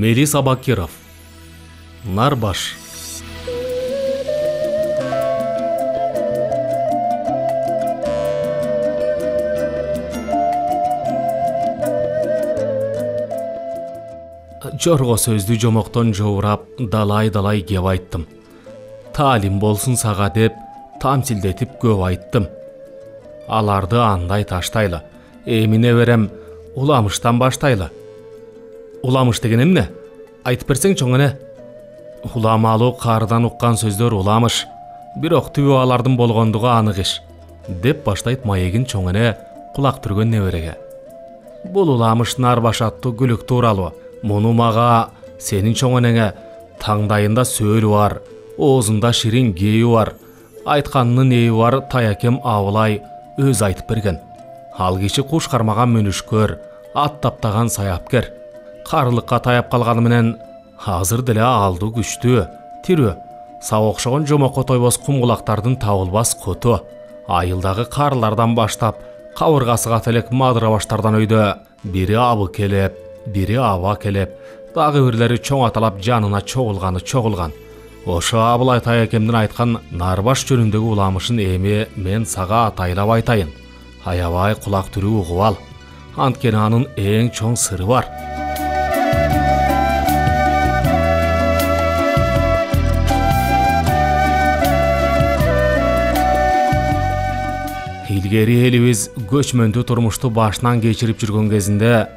Мелис Абакиров. Нарбаш. Жорго сөздү жомоктон жоурап, далай кеп айттым. Таалим болсун сага деп, тамсилдетип көп айттым. Аларды андай таштайлы. Эмине берем, уламыштан баштайлы. Уламыш деген эмне? Айтып берсең чоңене. Уламалуу карыдан уккан сөздөр уламыш. Бирок түбү алардын болгондугу анык иш. Деп баштайт маегин чоңене кулак түргөн небереге. Бул уламыш Нарбаш аттуу күлүк тууралуу. Муну мага сенин чоңенеңе таңдайында сөөлү бар, оозунда ширин кээи бар, айтканынын эби бар таякем Абылай өз айтып берген. Ал киши куш кармаган мүнүшкөр, ат таптаган саяпкер. Карылыкка таяп калганы менен азыр деле алдуу күчтүү, тирүү, сага окшогон жомокко тойбос кумкулактардын табылбас куту. Айылдагы карылардан баштап, кабыргасы кателек мадыра баштардан өйдө бири абы келеп, бири аба келеп, дагы бирлери чоң аталап жанына чогулган. Ошо Абылай таякемдин айткан Нарбаш жөнүндөгү уламышын эми мен сага атайлап айтайын. Аябай кулак түрүү угуп ал. Анткени анын эң чоң сыры бар. Илгери элибиз көчмөндүү турмушту башынан кечирип жүргөн кезинде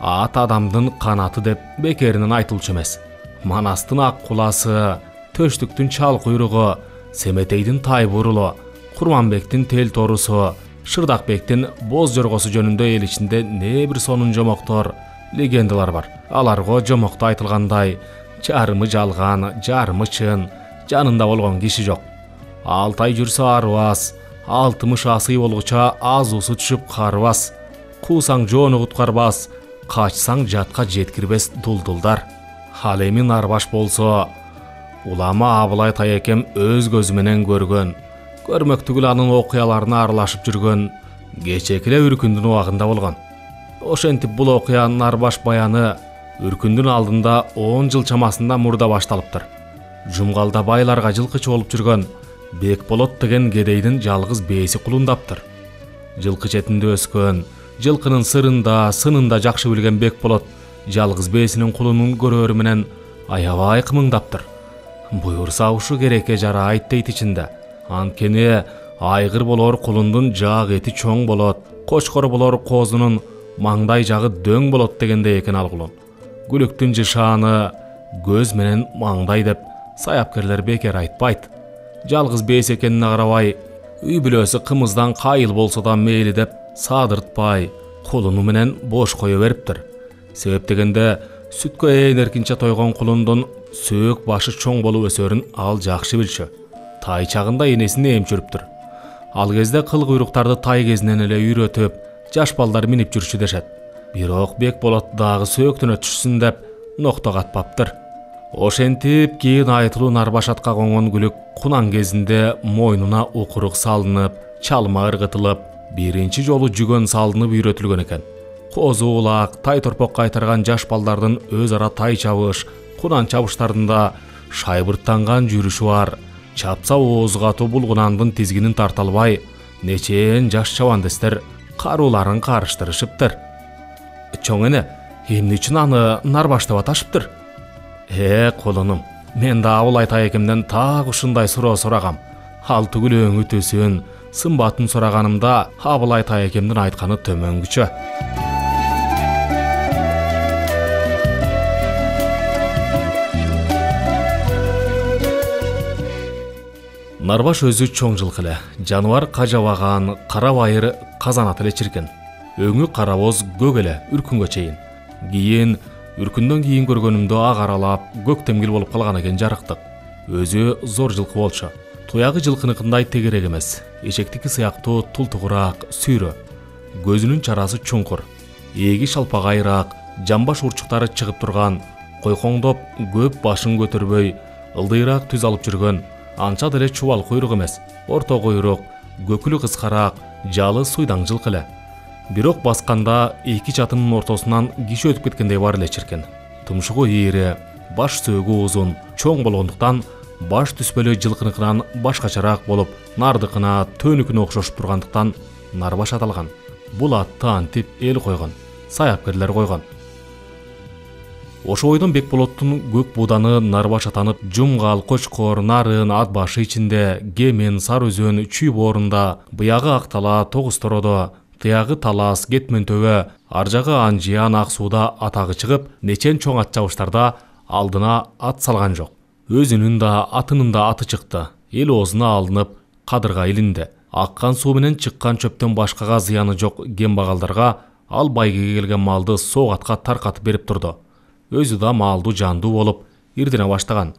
ат адамдын канаты деп бекеринен айтылчу эмес. Манастын ак куласы, Төштүктүн чал куйругу, Семетейдин тай бурулу, Курманбектин тел торусу, Шырдакбектин боз жоргосу жөнүндө эл ичинде не бир сонун жомоктор, легендалар бар. Аларга жомокто айтылгандай, жарымы жалган, жарымы чын, жанында болгон киши жок. 6 ай жүрсө арыбас, 60 асый болгуча азуусу түшүп карыбас. Куусаң жоону куткарбас, качсаң жатка жеткирбес дулдулдар. Ал эми Нарбаш болсо, улама Абылай таякем өз көзү менен көргөн, көрмөктүгүл анын окуяларына аралашып жүргөн, кечекиле Үркүндүн убагында болгон. Ошентип бул окуя Нарбаш баяны Үркүндүн алдында 10 жыл чамасында мурда башталыптыр. Жумгалда байларга жылкычы болуп жүргөн Бекболот деген кедейдин жалгыз бээси кулундаптыр. Жылкы четинде өскөн, жылкынын сырында, сынында жакшы билген Бекболот жалгыз бээсинин кулунун көрөрү менен аябай кымыңдаптыр. Буйурса ушу керекке жарайт дейт ичинде. Анткени айгыр болор кулундун жаак эти чоң болот, кочкор болор коозунун маңдай жагы дөң болот дегенде экен ал кулун. Күлүктүн жышааны көз менен маңдай деп саяпкерлер бекер айтпайт. Жалгыз бээс экенине карабай, үй бүлөсү кымыздан кайыл болсо да мейли деп саадыртпай, кулуну менен бош кое бериптир. Себеп дегенде сүткө ээн эркинче тойгон кулундун сөөк башы чоң болуп өсөрүн ал жакшы билчү. Тай чагында энесине эмчүрүптүр. Ал кезде кыл куйруктарды тай кезинен эле үйрөтүп, жаш балдар минип жүрчү дешет. Бирок Бекболот дагы сөөктүнө түшсүн деп нокто катпаптыр. Ошентип кийин айтылуу Нарбаш атка конгон күлүк кунан кезинде мойнуна укурук салынып, чалма ыргытылып, биринчи жолу жүгөн салынып үйрөтүлгөн экен. Козу улак, тай торпок кайтарган жаш балдардын өз ара тай чабыш, кунан чабыштарында шайбырттанган жүрүшү бар. Чапса ооз катуу булгунандын тизгинин тарта албай, нечен жаш чабандестер карууларын карыштырышыптыр. Чоңене, эмне үчүн аны Нарбаш деп аташыптыр? Кулунум, мен да Абылай таякемден так ушундай суроо сурагам. Ал түгүл өңү төсүн, сымбатын сураганымда Абылай таякемдин айтканы төмөнгүчө. Нарбаш өзү чоң жылкы эле, жаныбар кажабаган, кара байыр казанат эле чиркен. Өңү карабоз көк эле Үркүнгө чейин. Кийин Үркүндөн кийин көргөнүмдө ак аралап, көктемгил болуп калган экен жарыктык. Өзү зор жылкы болчу. Туягы жылкыныкындай тегерек эмес, эчектики сыяктуу тултугураак, сүйрө. Көзүнүн чарасы чуңкур, эги шалпагайраак, жамбаш урчуктары чыгып турган, койкоңдоп көп башын көтөрбөй, ылдыйраак түз алып жүргөн, анча деле чубал куйрук эмес, орто куйрук, көкүлү кыскараак, жалы суйдаң жылкы эле. Бирок басканда эки чатынын ортосунан киши өтүп кеткендей бар эле чиркен. тумшугу ийри, баш сөөгү узун, чоң болгондуктан баш түспөлө жылкыныкынан башкачараак болуп, нардыкына төнүкүнө окшошуп тургандыктан Нарбаш аталган. Бул атты антип эл койгон, саяпкерлер койгон. Ошо бойдон Бекболоттун көк буданы Нарбаш атанып, Жумгал, Кочкор, Нарын, Ат башы ичинде, Кемен, Сары өзөн, Чүй боорунда, быягы Актала, Тогуз Тородо, тыягы Талас, Кетмен төбө, ар жагы Анжиян, Ак сууда атагы чыгып, нечен чоң ат чабыштарда алдына ат салган жок. Өзүнүн да, атынын да аты чыкты. Эл оозуна алынып, кадырга илинди. Аккан суу менен чыккан чөптөн башкага зыяны жок кембагалдарга ал байгеге келген малды соогатка таркатып берип турду. Өзү да малдуу жандуу болуп, ирдине баштаган.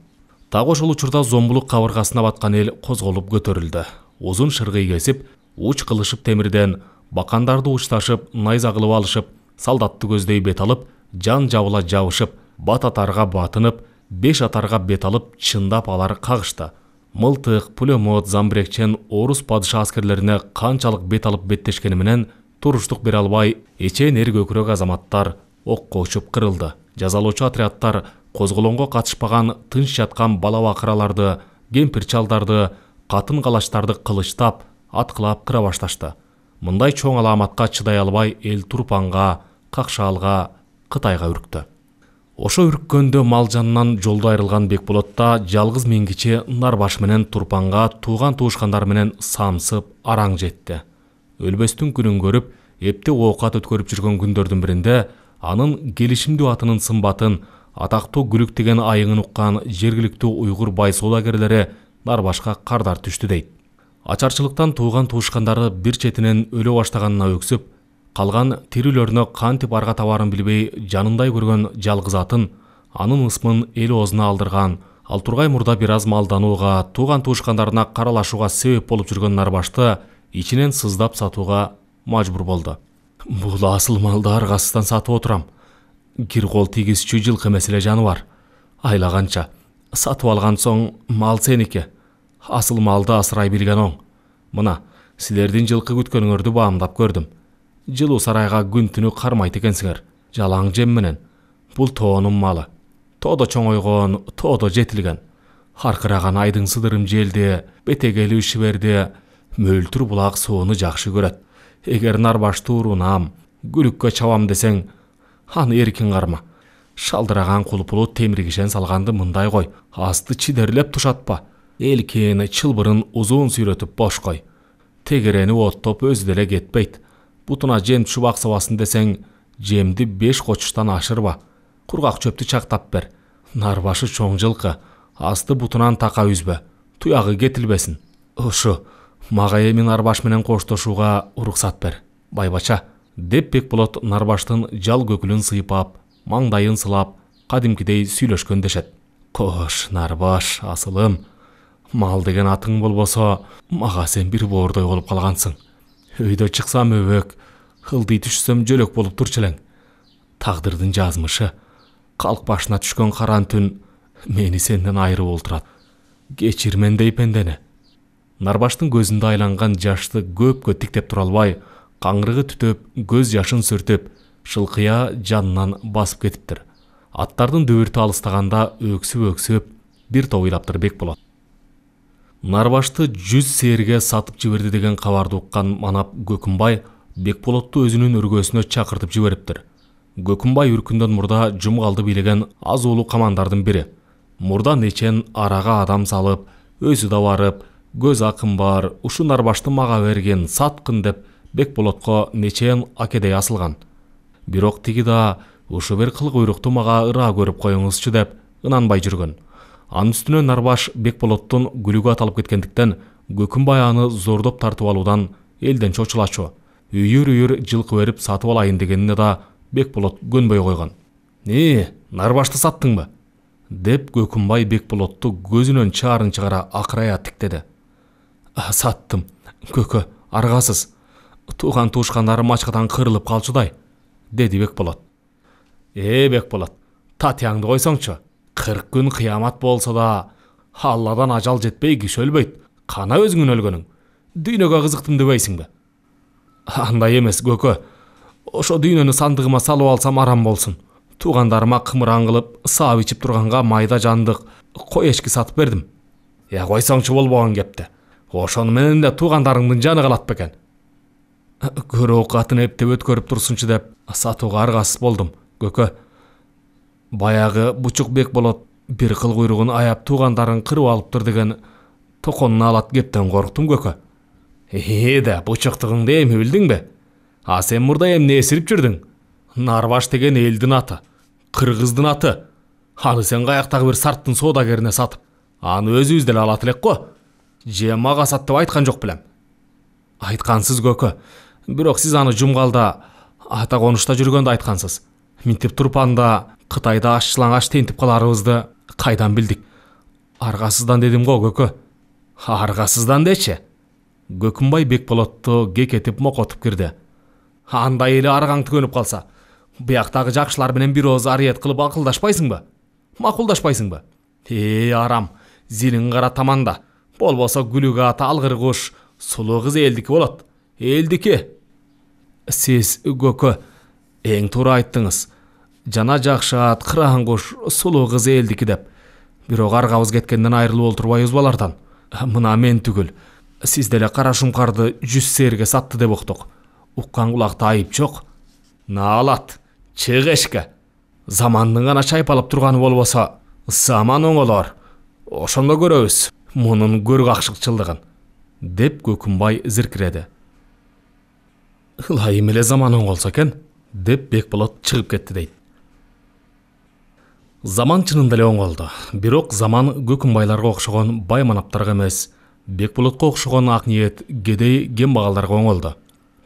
Так ошол учурда зомбулук кабыргасына баткан эл козголуп көтөрүлдү. Узун шыргый кесип, уч кылышып темирден, бакандарды учташып, найза кылып алышып, солдатты көздөй бет алып, жан жабыла жабышып, бат атарга батынып, 5 атарга бет алып, чындап алар кагышты. Мылтык, пулемет, замбирекчен орус падыша аскерлерине канчалык бет алып беттешкени менен туруштук бере албай, эчен эр көкүрөк азаматтар окко учуп кырылды. Жазалоочу отрядтар козголоңго катышпаган тынч жаткан бала бакыраларды, кемпир чалдарды, катын калачтарды кылычтап, аткылап кыра башташты. Мындай чоң аламатка чыдай албай эл Турпанга, Какшаалга, Кытайга үрктү. Ошо үрккөндө мал жанынан жолдо айрылган Бекболотта жалгыз миңгичи Нарбаш менен Турпанга тууган туушкандар менен самсып араң жетти. Өлбөстүн күнүн көрүп, эпте оокат өткөрүп жүргөн күндөрдүн биринде анын келишимдүү атынын сымбатын, атактуу Күлүк деген айыңын уккан жергиликтүү уйгур бай соодагерлери Нарбашка кардар түштү дейт. Ачарчылыктан тууган туушкандары бир четинен өлө баштаганына өксүп, калган тирүүлөрүнө кантип арга табарын билбей жанындай көргөн жалгыз атын, анын ысмын эл оозуна алдырган, ал тургай мурда бир аз малданууга, тууган туушкандарына каралашууга себеп болуп жүргөн Нарбашты ичинен сыздап сатууга мажбур болду. Бул асыл малды аргасыздан сатып отурам. Кир кол тийгизчү жылкы эмес эле жаныбар. Айлаганча сатып алган соң мал сеники. Асыл малды асырай билген оң. Мына, силердин жылкы күткөнүңөрдү баамдап көрдүм. Жылуу сарайга күн түнү кармайт экенсиңер. Жалаң жем менен. Бул тоонун малы. Тоодо чоңойгон, тоодо жетилген. Аркыраган айдың сыдырым желди, бетегели шиберди, мөлтүр булак сууну жакшы көрөт. Эгер Нарбашты урунам, Күлүккө чабам десең, аны эркин карма. Шалдыраган кулпулу темиргишен салганды мындай кой, асты чидерлеп тушатпа. Элкени чылбырын узун сүйрөтүп бош кой. Тегерени оттоп өзү деле кетпейт. Бутуна жем чубак сабасын десең, жемди 5 кочуштан ашырба. Кургак чөптү чактап бер. Нарбашы чоң жылкы, асты бутунан така үзбө. Туягы кетилбесин. Ушу, мага эми Нарбаш менен коштошууга уруксат бер. Байбача, деп Бекболот Нарбаштын жал көкүлүн сыйпап, маңдайын сылап, кадимкидей сүйлөшкөн дешет. Кош, Нарбаш, асылым, мал деген атың болбосо, мага сен бир боордой болуп калгансың. Өйдө чыксам өбөк, ылдый түшсөм жөлөк болуп турчу элең. Тагдырдын жазмышы, калк башына түшкөн каран түн мени сенден айырып олтурат. Кечирмен дей пендени. Нарбаштын көзүндө айланган жашты көпкө тиктеп тура албай, каңрыгы түтөп, көз жашын сүртүп, шылкыя жанынан басып кетиптир. Аттардын дөбүртү алыстаганда өксүп бир топ ыйлаптыр Бекболот. Нарбашты 100 сээрге сатып жиберди деген кабарды уккан манап Көкүмбай Бекболотту өзүнүн өргөсүнө чакыртып жибериптир. Көкүмбай үркүндөн мурда Жумгалды бийлеген аз уулуу камандардын бири. Мурда нечен арага адам салып, өзү да барып, көз акым бар, ушу Нарбашты мага берген, саткын деп Бекболотко нечен акедей асылган. Бирок тиги да ушу бир кыл куйрукту мага ыраа көрүп коюңузчу деп ынанбай жүргөн. Анын үстүнө Нарбаш Бекболоттун Күлүгү аталып кеткендиктен Көкүмбай аны зордоп тартып алуудан элден чочулачу. Үйүр жылкы берип сатып алайын дегенине да Бекболот көнбөй койгон. Нарбашты саттыңбы? Деп Көкүмбай Бекболотту көзүнөн чаарын чыгара акырая тиктеди. Саттым, көкө, аргасыз. Тууган туушкандарым ачкадан кырылып калчудай, деди Бекболот. Бекболот, татыяңды койсоңчу. 40 күн кыямат болсо да, Алладан ажал жетпей киши өлбөйт. Кана өзүңүн өлгөнүң. Дүйнөгө кызыктым дебейсиңби? Андай эмес, көкө. Ошо дүйнөнү сандыгыма салып алсам арам болсун. Туугандарыма кымыран кылып саап ичип турганга майда жандык кой эчки сатып бердим. Койсоңчу болбогон кепти. Ошону менен да туугандарыңдын жаны калат бекен. Көрө оокатын эптеп өткөрүп турсунчу деп сатууга аргасыз болдум, көкө. Баягы бучук бек болот бир кыл куйругун аяп туугандарын кырып алыптыр деген токонун алат кептен корктум, көкө. Да, бучуктугуңду эми билдиңби? Сен мурда эмне эсирип жүрдүң? Нарбаш деген элдин аты, кыргыздын аты. Аны сен каяктагы бир сарттын соодагерине сатып, аны өзүбүз деле алат элек го. Же мага сат деп айткан жок белем. Айткансыз, көкө. Бирок сиз аны жумгалда ата конушта жүргөндө айткансыз. Минтип Турпанда Кытайда аш-чылаңаш тентип каларыбызды кайдан билдик? Аргасыздан дедим го, көкө. Аргасыздан дечи. Көкүмбай Бекболотту кекетип мокотуп кирди. Андай эле аргаң төгөнүп калса, бияктагы жакшылар менен бир ооз ариет кылып акылдашпайсыңбы? Макулдашпайсыңбы? Арам, зилиң кара таманда. Болбосо күлүгү ата алгыр куш, сулуу кыз элдики болот. Элдики. Сиз, көкө, эң туура айттыңыз. Жана жакшы ат, кыран куш, сулуу кыз элдики деп. Бирок аргабыз кеткенден айрылып олтурбайбыз балардан. Мына мен түгүл. Сиз деле кара шумкарды 100 сээрге сатты деп уктук. Уккан кулакта айып жок. Наалат, чык эшикке. Замандын гана чайпалып турганы болбосо, заман оңолор. Ошондо көрөбүз мунун көр какшыкчылдыгын, деп Көкүмбай зиркиреди. Ылайым эле заман оңолсо экен, деп Бекболот чыгып кетти дейт. Заман чынында эле оңолду. Бирок заман Көкүмбайларга окшогон бай манаптарга эмес, Бекболотко окшогон ак ниет кедей кембагалдарга оңолду.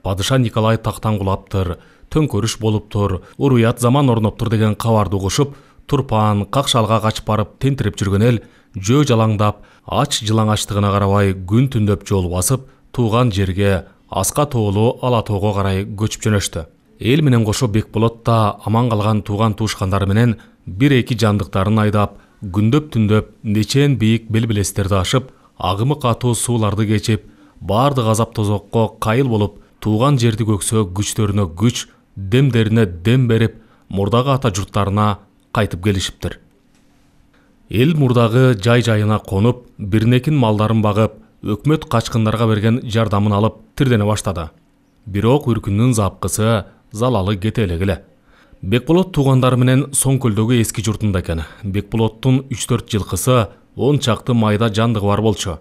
Падыша Николай тактан кулаптыр, төңкөрүш болуптур, уруят заман орноптур деген кабарды угушуп, Турпан, Какшалга качып барып тентирип жүргөн эл жөө жалаңдап, ач жылаңачтыгына карабай күн түндөп жол басып, тууган жерге, Аска тоолуу Ала тоого карай көчүп жөнөштү. Эл менен кошо Бекболот да аман калган тууган туушкандары менен бир-эки жандыктарын айдап, күндөп түндөп нечен бийик белбелестерди ашып, агымы катуу сууларды кечип, баардык азап тозокко кайыл болуп, тууган жерди көксөө күчтөрүнө күч, демдерине дем берип, мурдагы ата журттарына кайтып келишиптир. Эл мурдагы жай-жайына конуп, бирнекин малдарын багып, өкмөт качкындарга берген жардамын алып тирдене баштады. Бирок үркүндүн запкысы, залалы кете элек. Бекболот туугандары менен Соңкөлдөгү эски журтунда экен. Бекболоттун 3-4 жылкысы 10 чакты майда жандыгы бар болчу.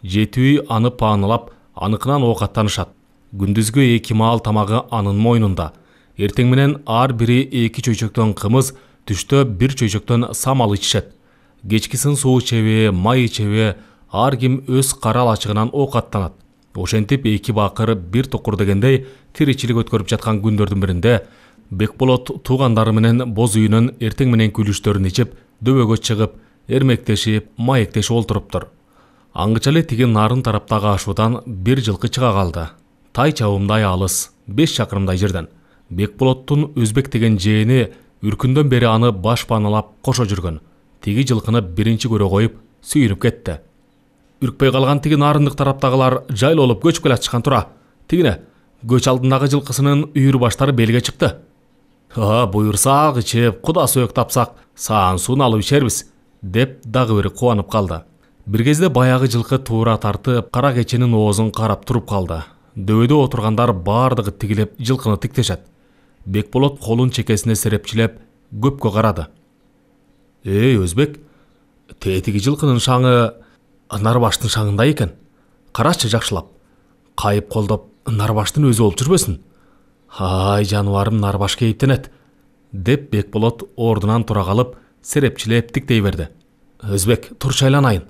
Жетүү аны паанылап, аныкынан оокаттанышат. Күндүзгү 2 маал тамагы анын мойнунда. Эртең менен ар бири 2 чөйчөктөн кымыз, түштө 1 чөйчөктөн самал ичишет. Кечкисин суу ичеби, май ичеби, ар ким өз карал ачыгынан оокаттанат. Ошентип 2 бакыр 1 токур дегендей тиричилик өткөрүп жаткан күндөрдүн биринде Бекболот туугандары менен боз үйүнөн эртең менен күлүштөрүн ичип, дөбөгө чыгып, эрмектешип, маектешип олтуруптур. Аңгыча эле тиги нарын тараптагы ашуудан 1 жылкы чыга калды. Тай чабымдай алыс, 5 чакырымдай жерден. Бекболоттун Өзбек деген жээни үркүндөн бери аны баш паналап кошо жүргөн. Тиги жылкыны биринчи көрө коюп, сүйүнүп кетти. Үркпөй калган тиги нарындык тараптагылар жайлолуп көчүп келатышкан тура. Тигине көч алдындагы жылкысынын үйүр баштары белге чыкты. Буйурсак ичип, куда сөөк тапсак, саан суун алып ичербиз, деп дагы бир кубанып калды. Бир кезде баягы жылкы туура тартып, кара кеченин оозун карап туруп калды. Дөбөдө отургандар баардыгы тигилеп жылкыны тиктешет. Бекболот колун чекесине серепчилеп, көпкө карады. Өзбек, тетиги жылкынын шаңы Нарбаштын шаңындай экен. Карачы жакшылап. Кайып колдоп, Нарбаштын өзү болуп жүрбөсүн? Жаныбарым Нарбаш кейиптенет, деп Бекболот ордунан тура калып, серепчилеп тиктей берди. Өзбек, турчу айланайын.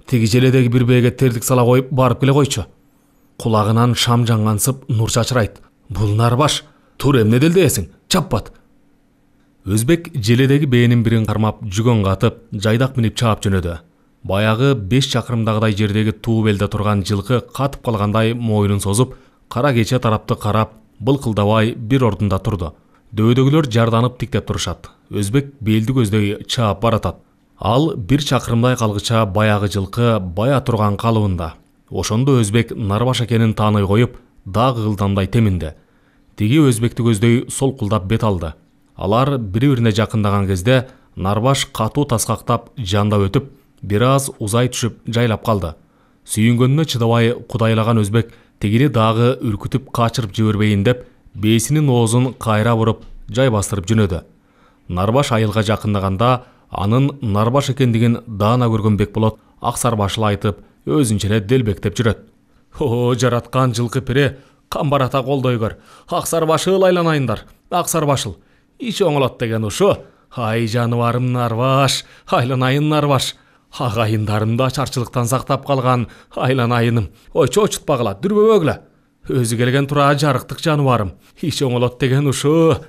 Тиги желедеги бир бээге тердик сала коюп барып келе койчу. Кулагынан шам жаңгансып, нур чачырайт. Бул Нарбаш, тур эмне делдесиң? Чаппат. Өзбек желедеги бээнин бирин кармап, жүгөн катып, жайдак минип чаап жөнөдү. Баягы 5 чакырымдагыдай жердеги туу белде турган жылкы катып калгандай мойнун созуп, кара кече тарапты карап, былкылдабай бир ордунда турду. Дөбөдөгүлөр жарданып тиктеп турушат. Өзбек белди көздөй чаап баратат. Ал 1 чакырымдай калгыча баягы жылкы бая турган калыбында. Ошондо Өзбек Нарбаш экенин тааный коюп, дагы ылдамдай теминди. Тиги Өзбекти көздөй солкулдап бет алды. Алар бири-бирине жакындаган кезде Нарбаш катуу таскактап жандап өтүп, бир аз узай түшүп жайлап калды. Сүйүнгөнүнө чыдабай кудайлаган өзбек тигини дагы үркүтүп качырып жибербейин деп, бээсинин оозун кайра буруп жайбастырып жөнөдү. Нарбаш айылга жакындаганда анын Нарбаш экендигин даана көргөн Бекболот Аксарбашыл айтып, өзүнчө эле делбектеп жүрөт. О, жараткан жылкы пире, камбарата колдойгор. Аксарбашыл айланайындар. Аксарбашыл. Ич оңолот деген ушу. Ай жаныбарым Нарбаш, айланайын Нарбаш. Агайындарымды ачарчылыктан сактап калган айланайыным. Ой, чочутпагыла, дүрбөбөгүлө. Өзү келген тура жарыктык жаныбарым. Ич оңолот деген ушу.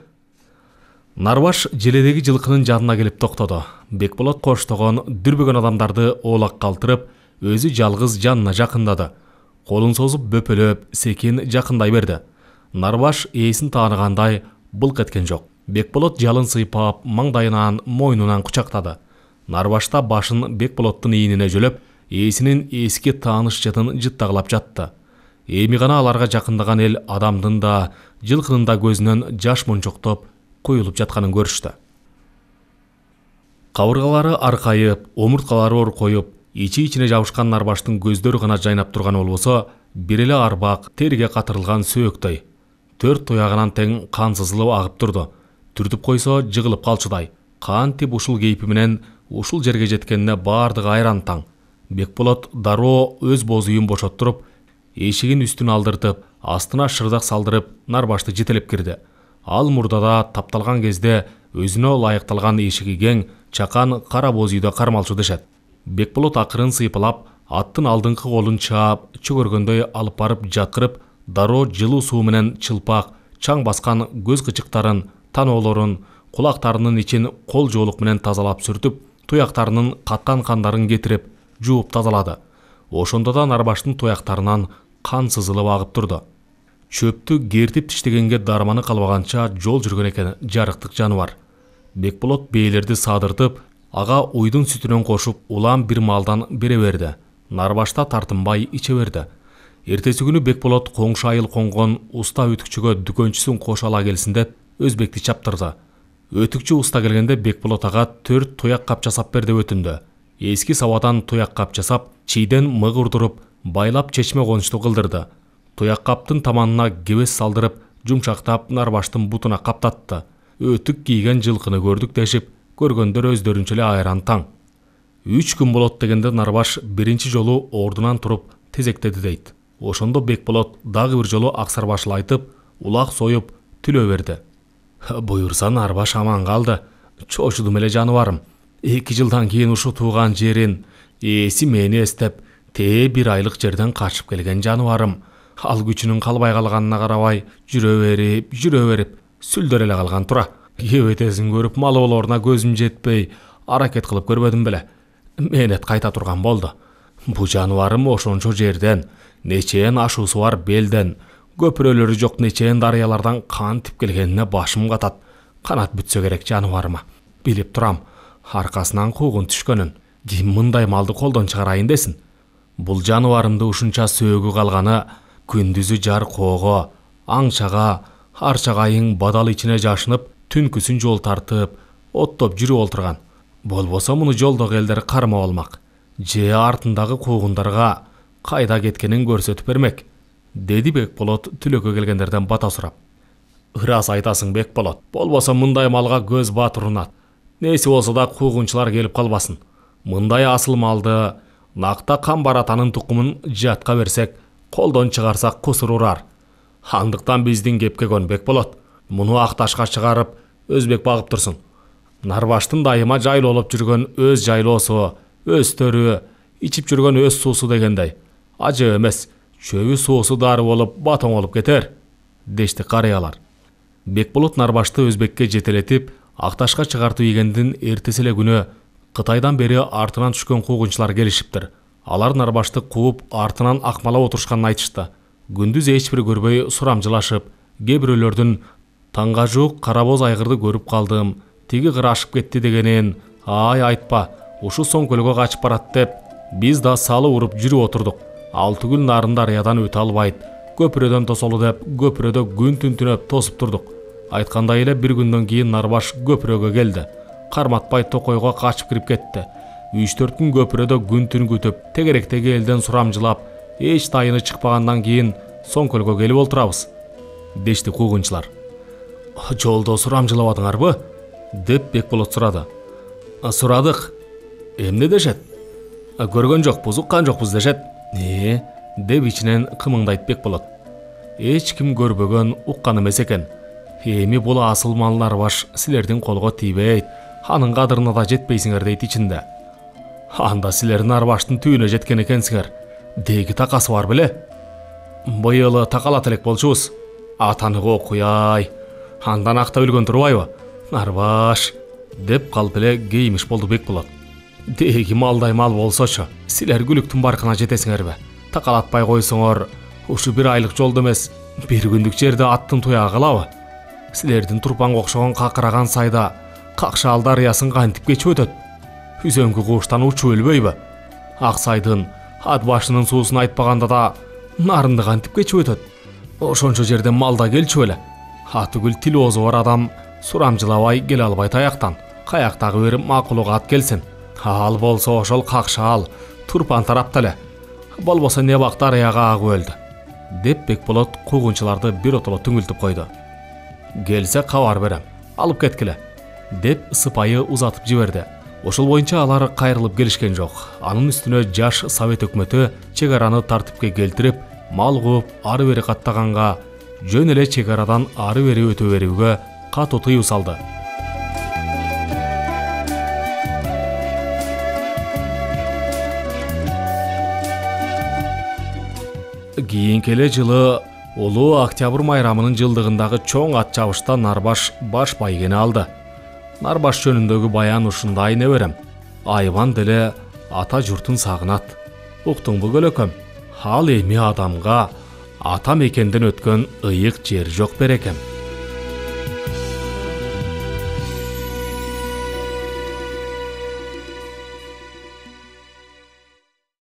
Нарбаш желедеги жылкынын жанына келип токтоду. Бекболот коштогон, дүрбөгөн адамдарды оолак калтырып, өзү жалгыз жанына жакындады. Колун созуп бөпөлөп, секин жакындай берди. Нарбаш ээсин тааныгандай былк эткен жок. Бекболот жалын сыйпап, маңдайынан, мойнунан кучактады. Нарбаш да башын Бекболоттун ийинине жөлөп, ээсинин эски тааныш жытын жыттагылап жатты. Эми гана аларга жакындаган эл адамдын да, жылкынын да көзүнөн жаш мончоктоп куюлуп жатканын көрүштү. Кабыргалары аркайып, омурткалары оркоюп, ичи-ичине жабышкан Нарбаштын көздөрү гана жайнап турган болбосо, бир эле арбак терге катырылган сөөктөй. 4 туягынан тең кан сызылып агып турду. Түртүп койсо жыгылып калчудай. Кантип ушул кейпи менен ушул жерге жеткенине бардыгы айран таң. Бекболот дароо өз боз үйүн бошоттуруп, эшигин үстүн алдыртып, астына шырдак салдырып, Нарбашты жетелеп кирди. Ал мурдада тапталган кезде өзүнө ылайыкталган эшиги кең, чакан кара боз үйдө кармалчу дешет. Бекболот акырын сыйпалап, аттын алдыңкы колун чаап, чөгөргөндөй алып барып жаткырып, дароо жылуу суу менен чылпак, чаң баскан көз кычыктарын, таноолорун, кулактарынын ичин кол жоолук менен тазалап сүртүп, туяктарынын каткан кандарын кетирип, жууп тазалады. Ошондо да Нарбаштын туяктарынан кан сызылып агып турду. Чөптү кертип тиштегенге дарманы калбаганча жол жүргөн экен жарыктык жаныбар. Бекболот бээлерди садыртып, ага уйдун сүтүнөн кошуп, улам бир малдан бере берди. Нарбашта тартынбай иче берди. Эртеси күнү Бекболот коңшу айыл конгон уста өтүкчүгө дүкөнчүсүн кошо ала келсин деп өзбекти чаптырды. Өтүкчү уста келгенде Бекболот ага 4 туяк кап жасап бер деп өтүндү. Эски сабадан туяк кап жасап, чийден мык урдуруп, байлап чечме конучту кылдырды. Туяк каптын таманына кебес салдырып, жумшактап Нарбаштын бутуна каптатты. Өтүк кийген жылкыны көрдүк дешип, көргөндөр өздөрүнчө эле айран таң. 3 күн болот дегенде Нарбаш биринчи жолу ордунан туруп тезектеди дейт. Ошондо Бекболот дагы бир жолу Аксарбашыл айтып, улак союп, түлөө берди. Буюрса Нарбаш аман калды. Чочудум эле жаныбарым. 2 жылдан кийин ушу тууган жерин, ээси мени эстеп, бир айлык жерден качып келген жаныбарым. Ал күчүнүн калбай калганына карабай, жүрө берип, сүлдөр эле калган тура. Кебетесин көрүп, малы болоруна көзүм жетпей, аракет кылып көрбөдүм беле. Мээнет кайта турган болду. Бу жаныбарым ошончо жерден, нечен ашуусу бар белден, көпүрөлөрү жок нечен дарыялардан кантип келгенине башым катат. Канат бүтсө керек жаныбарыма. Билип турам, аркасынан куугун түшкөнүн. Ким мындай малды колдон чыгарайын десин. Бул жаныбарымды ушунча сөөгү калганы, күндүзү жар коого, аңчага, арчагайың бадал ичине жашынып, түнкүсүн жол тартып, оттоп жүрүп олтурган. Болбосо муну жолдогу элдер кармап алмак. Же артындагы куугундарга кайда кеткенин көрсөтүп бермек, деди Бекболот түлөккө келгендерден бата сурап. Ырас айтасың Бекболот, болбосо мындай малга көз батыр унат. Неси болсо да куугунчулар келип калбасын. Мындай асыл малды накта камбаратанын тукумун жатка берсек, колдон чыгарсак кусур урар. Андыктан биздин кепке көн Бекболот. Муну Акташка чыгарып, өзбек багып турсун. Нарбаштын дайыма жайлуу болуп жүргөн өз жайлоосу, өстөрү, ичип жүргөн өз суусу дегендей. Ажы эмес, чөбү суусу дары болуп, батоң болуп кетер, дешти карыялар. Бекболот Нарбашты өзбекке жетелетип, Акташка чыгартып ийгендин эртеси эле күнү Кытайдан бери артынан түшкөн куугунчулар келишиптир. Алар Нарбашты кууп, артынан акмалап отурушканын айтышты. Күндүз эч бир көрбөй сурамжылашып, кээ бирөөлөрдүн таңга жуук кара боз айгырды көрүп калдым, тиги кыр ашып кетти дегенин, ай айтпа, ушу соң көлгө качып барат деп, биз да салы уруп жүрүп отурдук. 6 күн нарында дарыядан өтө албайт, көпүрөдөн тосолу деп, көпүрөдө күн түн түнөп тосуп турдук. Айткандай эле бир күндөн кийин Нарбаш көпүрөгө келди. Карматпай токойго качып кирип кетти. 3-4 күн көпүрөдө күн түн күтүп, тегеректеги элден сурамжылап, эч тайыны чыкпагандан кийин Соңкөлгө келип олтурабыз, дешти куугунчулар. Жолдо сурамжылабадыңарбы? Деп Бекболот сурады. Сурадык. Эмне дешет? Көргөн жокпуз, уккан жокпуз дешет. Деп ичинен кымыңдайт Бекболот. Эч ким көрбөгөн, уккан эмес экен. Эми бул асыл мал Нарбаш силердин колго тийбейт, анын кадырына да жетпейсиңер дейт ичинде. Анда силер Нарбаштын түйүнө жеткен экенсиңер. Деги такасы бар беле? Быйыл такалат элек болчубуз. Атанык окуяй. Андан акта өлгөн турбайбы? Нарбаш, деп калып эле кейимиш болду Бекболот. Деги малдай мал болсочу, силер күлүктүн баркына жетесиңерби? Такалатпай койсоңор, ушу бир айлык жолдо эмес, бир күндүк жерде аттын туягы калабы? Силердин турпанга окшогон какыраган сайда Какшаал дарыясын кантип кечип өтөт? Үзөңкү куштан учуп өлбөйбү? Ак сайдын ат башынын суусун айтпаганда да нарынды кантип кечип өтөт? Ошончо жерден малда келчү беле? Атыгүл тил оозу бар адам сурамжылабай келе албай таяктан. Каяктагы бир макулук ат келсин. Ал болсо ошол Какшаал, Турпан тарапта эле. Болбосо не бак дарыяга агып өлдү. Деп Бекболот куугунчуларды бир отоло түңүлтүп койду. Келсе кабар берем, алып кеткиле, деп сыпайы узатып жиберди. Ошол боюнча алар кайрылып келишкен жок. Анын үстүнө жаш Совет өкмөтү чек араны тартипке келтирип, мал кууп ары бери каттаганга, жөн эле чек арадан ары бери өтө берүүгө катуу тыюу салды. Кийинки эле жылы улуу Октябрь майрамынын жылдыгындагы чоң ат чабышта Нарбаш баш байгени алды. Нарбаш жөнүндөгү баян ушундай неберем. Айбан деле ата журтун сагынат. Уктуңбу көлөкөм? Ал эми адамга ата мекенден өткөн ыйык жер жок берекем.